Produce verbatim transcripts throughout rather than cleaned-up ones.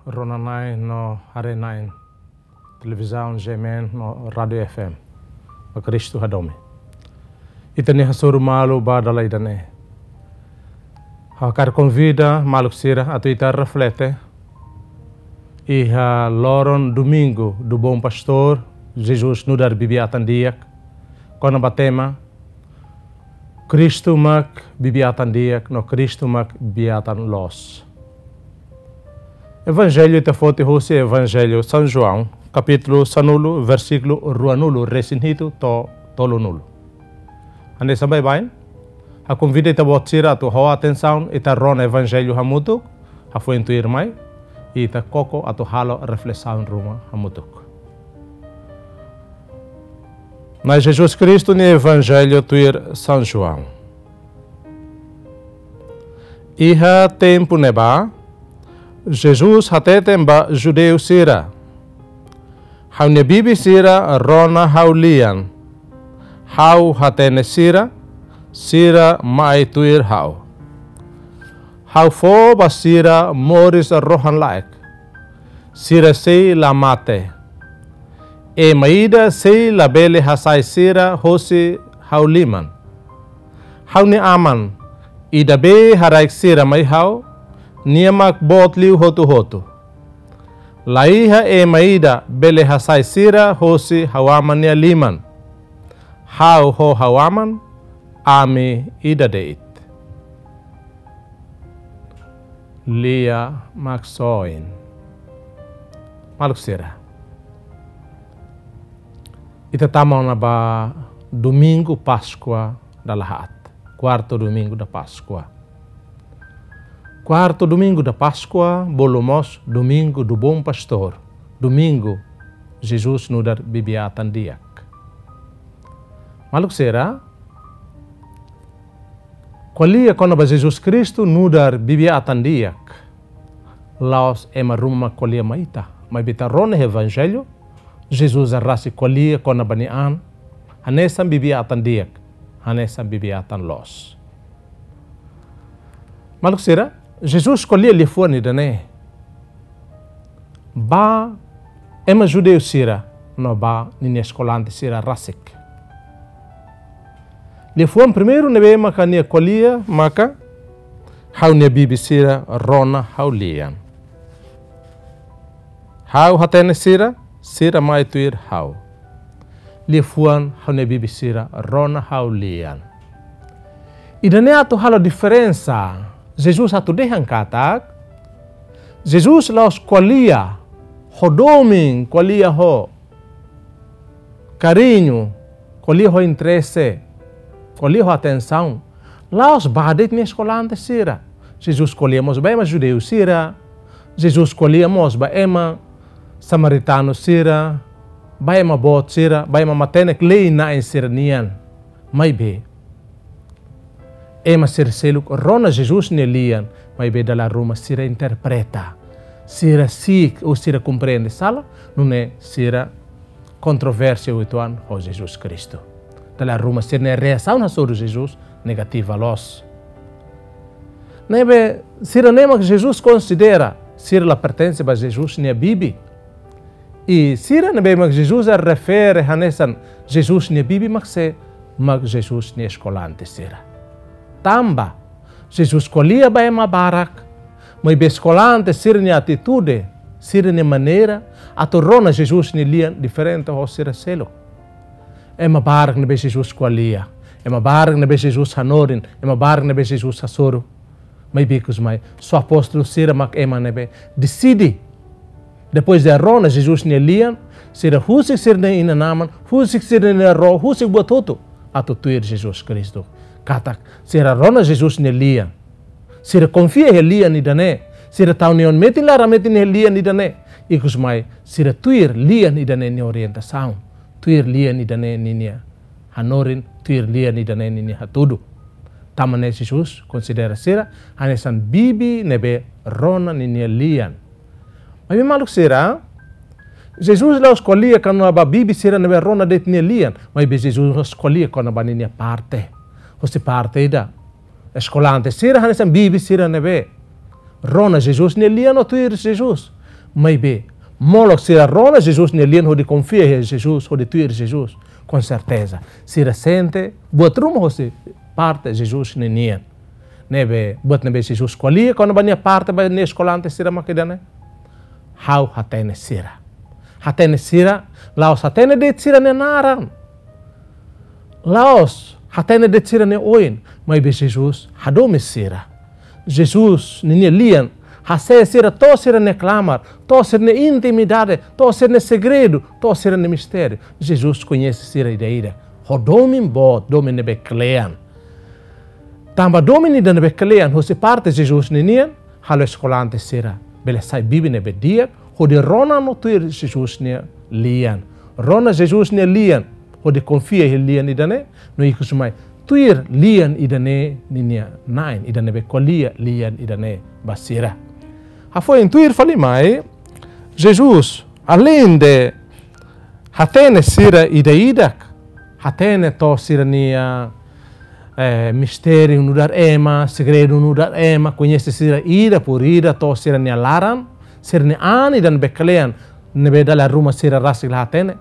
Rona-na'in no haree-na'in, televizaun G M N no Rádiu F M, ba Kristu hadomi. Ita-nia hasoru malu ba dala ida-ne'e. Ha'u hakarak konvida maluk sira atu ita reflete iha loron Domingo do Bom Pastor, Jesus nu'udar bibi-atan di'ak, kona-ba tema Kristu mak bibi-atan di'ak no Kristu mak bibi-atan loos. Evanjellu ita foti husi Evanjellu São João, kapítulu sanulu, versíkulu ruanulu-resin-hitu to'o tolunulu. Hanesan baibain, ha'u konvida ita-boot sira atu ho atensaun ita rona Evanjellu hamutuk, hafoin tuirmai ita koko atu halo reflesaun ruma hamutuk. Na'i Jesus Kristu nia Evanjellu tuir São João. Iha tempu ne'ebá, Jesus hateten ba judeu sira: Ha'u-nia bibi sira rona ha'u-lian. Ha'u hatene sira, sira mai tuir ha'u. Ha'u fó ba sira moris rohan-laek. Sira sei la mate. Ema ida sei labele hasai sira hosi ha'u liman. Ha'u-nia Aman, ida be haraik sira mai ha'u, nia mak boot liu hotu-hotu. La iha ema ida bele hasai sira hosi ha'u Aman nia liman. Ha'u ho ha'u Aman, ami ida de'it. Lia Maksoin. Maluk sira, ita tama ona ba Domingu Páskua dala haat, Quarto Domingo da Páscoa. Quarto Domingo da Páscoa, bolu mós Domingo do Bom Pastor, Domingu Jesus nu'udar bibi-atan di'ak. Maluk sira, ko'alia kona-ba Jesus Kristu nu'udar bibi-atan di'ak, la'ós ema ruma ko'alia mai ita, maibé ita rona Evanjellu, Jesus rasik ko'alia kona-ba nia an hanesan bibi-atan di'ak, hanesan bibi-atan loos. Maluk sira, Jesus ko'alia liafuan ida-ne'e ba ema judeu sira no ba ninia eskolante sira rasik. Liafuan primeiru ne'ebé maka nia ko'alia maka: Ha'u-nia bibi sira rona ha'u-lian. Ha'u hatene sira, sira mai tuir ha'u. Liafuan ha'u-nia bibi sira rona ha'u-lian. Ida-ne'e atu halo diferensa. Jesus atu dehan katak Jesus la'ós ko'alia ho domin, ko'alia ho kariñu, ko'alia ho interese, ko'alia ho atensaun la'ós ba de'it nia eskolante sira. Jesus ko'alia mós ba ema judeu sira. Jesus ko'alia mós ba ema samaritanu sira, ba ema boot sira, ba ema matenek lei-na'in sira-nian. Maibé ema sira seluk rona Jesus nia lian, maibé dala ruma sira interpreta, sira si'ik ou sira komprende sala, nune'e sira kontroversia uitoan ho Jesus Kristu. Dala ruma sira-nia reasaun hasoru Jesus negativa loos. Ne'ebé sira-ne'e mak Jesus konsidera, sira la pertense ba Jesus nia bibi. I sira ne'ebé mak Jesus refere hanesan Jesus nia bibi mak sé? Mak Jesus nia eskolante sira. Tanba Jesus ko'alia ba ema barak, maibé eskolante sira-nia atitude, sira-nia maneira atu rona Jesus nia lian diferente ho sira seluk. Ema barak ne'ebé Jesus ko'alia, ema barak ne'ebé Jesus hanorin, ema barak ne'ebé Jesus hasoru. Maibé ikus mai, só apóstolu sira mak ema ne'ebé deside. Depois de rona Jesus nia lian, sira husik sira-nia inan-aman, husik sira-nia ró, husik buat hotu atu tuir Jesus Kristu. Katak sira rona Jesus nia lian, sira konfia iha lian ida-ne'e, sira tau nia an metin laran metin iha lian ida-ne'e. Ikus mai sira tuir lian ida-ne'e nia orientasaun, tuir lian ida-ne'e ninia hanorin, tuir lian ida-ne'e ninia hatudu. Tanba ne'e Jesus konsidera sira hanesan bibi ne'ebé rona ninia lian. Maibé maluk sira, Jesus la'ós ko'alia kona-ba bibi sira ne'ebé rona de'it nia lian, maibé Jesus ko'alia kona-ba ninia parte. Husi parte ida, eskolante sira hanesan bibi sira ne'ebé rona Jesus nia lian no tuir Jesus. Maibé, molok sira rona Jesus nia lian hodi konfia iha Jesus, hodi tuir Jesus, com certeza sira sente buat ruma hosi parte Jesus ninian. Ne'ebé, buat ne'ebé Jesus ko'alia kona-ba nia parte ba nia eskolante sira mak ida-ne'e: Ha'u hatene sira. Hatene sira, la'ós hatene de'it sira-nia naran. La'ós hatene de'it sira-nia oin, maibé Jesus hadomi sira. Jesus ninia lian hasees sira to'o sira-nia klamar, to'o sira-nia intimidade, to'o sira-nia segredu, to'o sira-nia mistériu. Jesus koñese sira ida-idak. Ho domin boot, domin ne'ebé kle'an. Tanba domin ida ne'ebé kle'an hosi parte Jesus ninian, halo eskolante sira bele sai bibi ne'ebé di'ak, hodi rona no tuir Jesus nia lian. Rona Jesus nia lian, hodi konfia iha lian ida-ne'e, no ikus mai tuir lian ida-ne'e ninia na'in, ida ne'ebé ko'alia lian ida-ne'e ba sira. Hafoin tuir fali mai, Jesus, aleinde hatene sira ida-idak, hatene to'o sira-nia, eh, mistériu nu'udar ema, segredu nu'udar ema, koñese sira ida por ida, to'o sira-nia laran, sira-nia an ida ne'ebé kle'an, ne'ebé dala ruma sira rasik la hatene.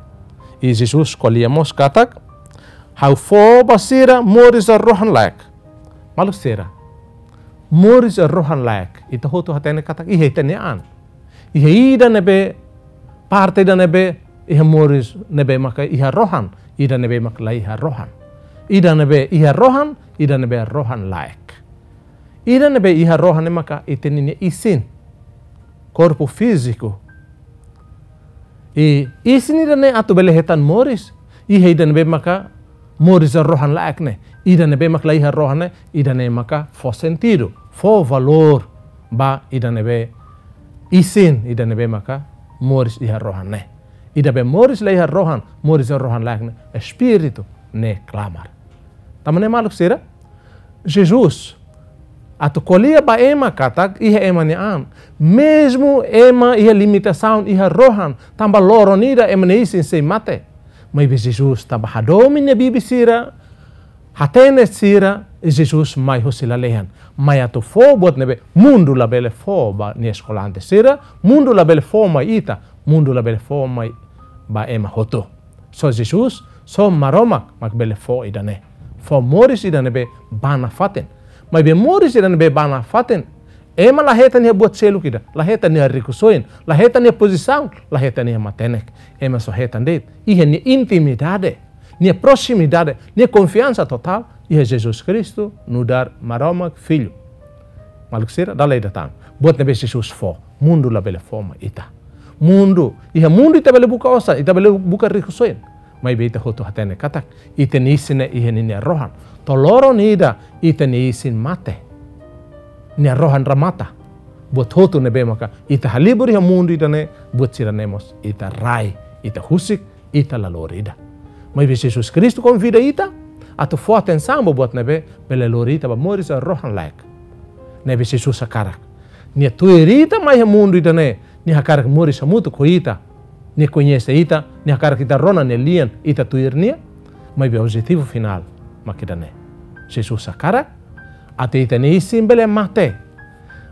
I Jesus ko'alia mós katak: Ha'u fó ba sira moris rohan-laek. Maluk sira, moris rohan-laek, ita hotu hatene katak iha ita-nia an. Iha ida ne'ebé, parte ida ne'ebé iha moris ne'ebé maka iha rohan, ida ne'ebé maka la iha rohan. Ida ne'ebé iha rohan, ida ne'ebé rohan-laek. Ida ne'ebé iha rohan ne'e maka ita ninia isin, korpu fíziku. I isin ida-ne'e atu bele hetan moris, iha ida ne'ebé maka moris rohan-laek ne'e. Ida ne'ebé maka la iha rohan ne'e, ida-ne'e maka fó sentidu, fó valór ba ida ne'ebé isin, ida ne'ebé maka moris iha rohan ne'e. Ida be moris la iha rohan, moris rohan-laek ne'e, espíritu ne'e klamar. Tanba ne'e maluk sira, Jesus atu ko'alia ba ema katak iha ema nia an, mezmu ema iha limitasaun iha rohan, tanba loron ida ema nia isin sei mate. Maibé Jesus tanba hadomi nia bibi sira, hatene sira, i Jesus mai hosi lalehan. Mai atu fó buat ne'ebé mundu labele fó ba nia eskolante sira, mundu labele fó mai ita, mundu labele fó mai ba ema hotu. Só Jesus, só Maromak mak bele fó ida-ne'e. Fó moris ida ne'ebé ba nafatin. Maibé moris ida ne'ebé ba nafatin, ema la hetan iha buat seluk ida, la hetan iha rikusoin, la hetan iha pozisaun, la hetan iha matenek. Ema só hetan de'it iha nia intimidade, nia proximidade, nia konfiansa totál iha Jesus Kristu nu'udar Maromak Filho. Maluk sira, dala ida tan. Buat ne'ebé Jesus fó, mundu labele fó mai ita. Mundu, iha mundu ita bele buka osan, ita bele buka rikusoin. Maibé ita hotu hatene katak ita-nia isin ne'e iha ninia rohan. To'o loron ida ita-nia isin mate. Nia rohan remata. Buat hotu ne'ebé maka ita halibur iha mundu ida-ne'e, buat sira-ne'e mós ita rai, ita husik, ita la lori ida. Maibé Jesus Kristu konvida ita atu fó atensaun ba buat ne'ebé bele lori ita ba moris rohan-laek. Ne'ebé Jesus hakarak nia tuir ita mai iha mundu ida-ne'e, nia hakarak moris hamutuk ho ita, nia koñese ita, nia hakarak ita rona nia lian, ita tuir nia. Maibé objetivu finál mak ida-ne'e. Jesus hakarak atu ita-nia isin bele mate,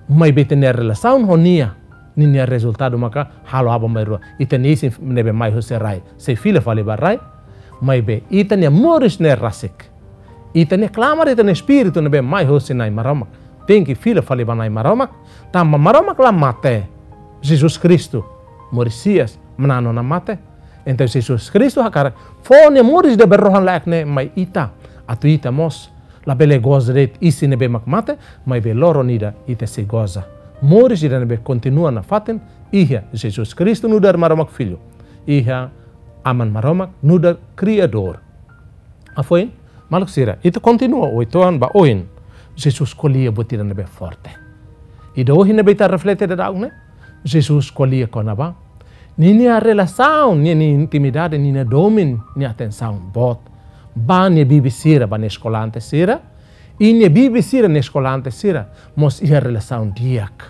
maibé ita-nia relasaun ho nia, ninia rezultadu maka halo aban-bainrua. Ita-nia isin ne'ebé mai hosi rai sei fila fali ba rai. Maibé ita-nia moris ne'e rasik, ita-nia klamar, ita-nia espíritu ne'ebé mai hosi Na'i Maromak tenke fila fali ba Na'i Maromak. Tanba Maromak la mate, Jesus Kristu, moris hi'as, manán ona mate. Entaun Jesus Kristu hakarak fó nia moris ida be rohan-laek ne'e mai ita, atu ita mós labele goza de'it isin ne'ebé mak mate, maibé loron ida ita sei goza moris ida ne'ebé kontinua nafatin iha Jesus Kristu nu'udar Maromak Filho, iha Aman Maromak nu'udar Kriadór. Hafoin, maluk sira, ita kontinua uitoan ba oin. Jesus ko'alia buat ida ne'ebé forte. Ida ohin ne'ebé ita reflete dadaun ne'e, Jesus ko'alia kona-ba ninia relasaun, ninia intimidade, ninia domin, nia atensaun boot ba nia bibi sira, ba nia eskolante sira. I nia bibi sira, nia eskolante sira mós iha relasaun di'ak,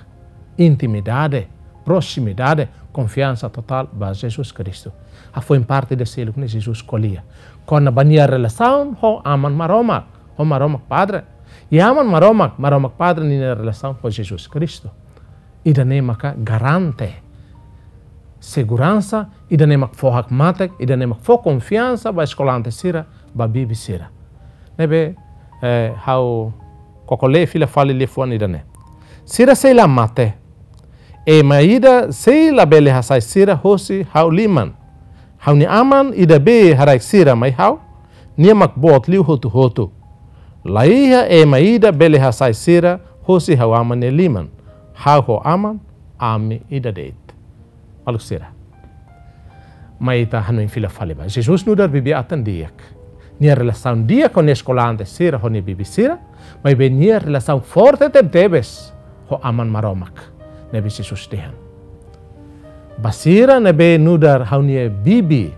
intimidade, proximidade, konfiansa totál ba Jesus Kristu. Hafoin parte ida seluk ne'e Jesus ko'alia kona-ba nia relasaun ho Aman Maromak, ho Maromak Padre. I Aman Maromak, Maromak Padre ninia relasaun ho Jesus Kristu. Ida-ne'e maka garante seguransa, ida-ne'e mak fó hakmatek, ida-ne'e mak fó konfiansa ba eskolante sira, ba bibi sira. Ne'ebé, eh, ha'u koko lee fila fali liafuan ida-ne'e. Sira sei la mate. Ema ida sei la bele hasai sira hosi ha'u liman. Ha'u-nia Aman ida be haraik sira mai ha'u, nia mak boot liu hotu-hotu. La iha ema ida bele hasai sira hosi ha'u Aman nia liman. Ha'u ho Aman, ami ida de'it. Maluk sira. Mai ita hanoin fila fali ba. Jesus nu'udar bibi-atan di'ak. Nia relasaun di'ak ho nia eskolante sira, ho nia bibi sira. Maibé nia relasaun forte tebetebes ho Aman Maromak. Ne'ebé Jesus dehan. Ba sira ne'ebé nu'udar ha'u-nia bibi,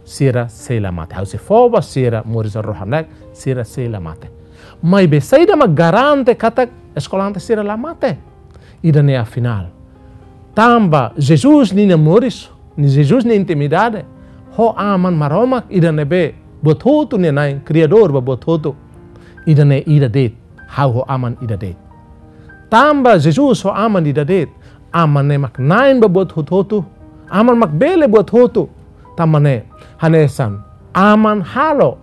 sira sei la mate. Ha'u sei fó ba sira moris rohan-laek, sira sei la mate. Maibé saida mak garante katak eskolante sira la mate? Ida-ne'e afinál. Tanba Jesus ninia moris, ni Jesus nia intimidade ho Aman Maromak ida ne'ebé buat hotu nia Na'i, Kriadór ba buat hotu. Ida-ne'e ida de'it, ha'u ho Aman ida de'it. Tanba Jesus ho Aman ida de'it, Aman ne'e mak Na'i ba buat hotu-hotu, Aman mak bele buat hotu. Tanba ne'e, hanesan Aman halo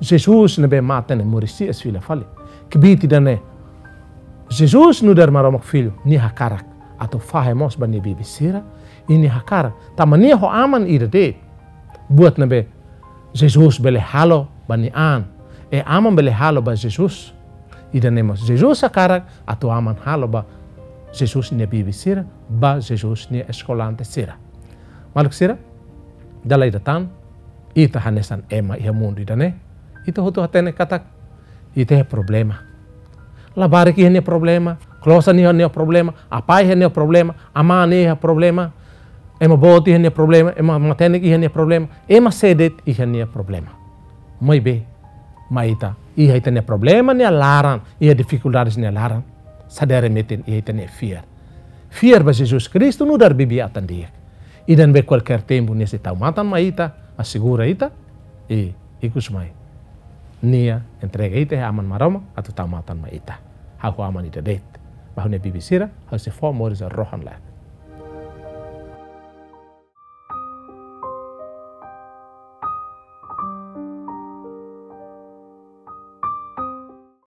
Jesus ne'ebé mate ne'e moris hi'as fila fali. Kbiit ida-ne'e, Jesus nu'udar Maromak Filho, nia hakarak atu fahe mós ba nia bibi sira, i nia hakarak, tanba nia ho Aman ida de'it. Buat ne'ebé Jesus bele halo ba nia an, i Aman bele halo ba Jesus. Ida-ne'e mós Jesus hakarak atu Aman halo ba Jesus nia bibi sira, ba Jesus nia eskolante sira. Maluk sira, dala ida tan, ita hanesan ema iha mundu ida-ne'e, ita hotu hatene katak ita iha problema. Labarik iha nia problema, klosan iha nia problema, apá iha nia problema, amá nia iha problema, ema boot iha nia problema, ema matenek iha nia problema, ema sé de'it iha nia problema. Maibé, mai ita iha ita-nia problema nia laran, iha difikuldades nia laran, sadere metin iha ita-nia fiar. Fiar ba Jesus Kristu nu'udar bibi-atan di'ak. Ida ne'ebé kualkér tempu nia sei tau matan mai ita, asegura ita, i ikusmai nia entrega ita iha Aman Maromak atu tau matan mai ita. Ha'u ho Aman ida de'it. Ba ha'u-nia bibi sira, ha'u sei fó moris rohan-laek.